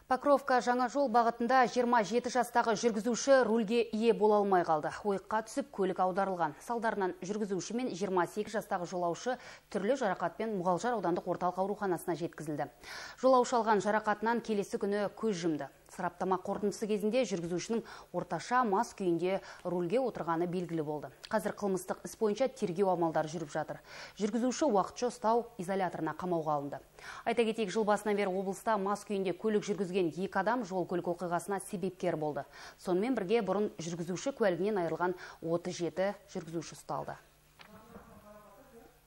Покровка жаңа жол бағытында 27 жастағы жүргізуші рульге ие бола алмай қалды. Ойыққа түсіп көлік аударылған. Салдарынан жүргізуші мен 28 жастағы жолаушы түрлі жарақатпен Мұғалжар аудандық орталық ауруханасына жеткізілді. Жолаушы алған жарақатынан келесі күні көз жұмды. Сараптама қорытындысы кезінде жүргізушінің орташа мас күйінде рульге отырғаны белгілі болды. Қазір қылмыстық іс бойынша тергеу амалдары жүріп жатыр. Жүргізуші уақытша ұстау изоляторына қамауға алынды. Айта кетейік, жыл басынан бері облыста мас күйінде көлік жүргізген 2 адам жол-көлік оқиғасына себепкер болды. Сонымен бірге бұрын жүргізуші куәлігінен айырылған 37 жүргізуші ұсталды.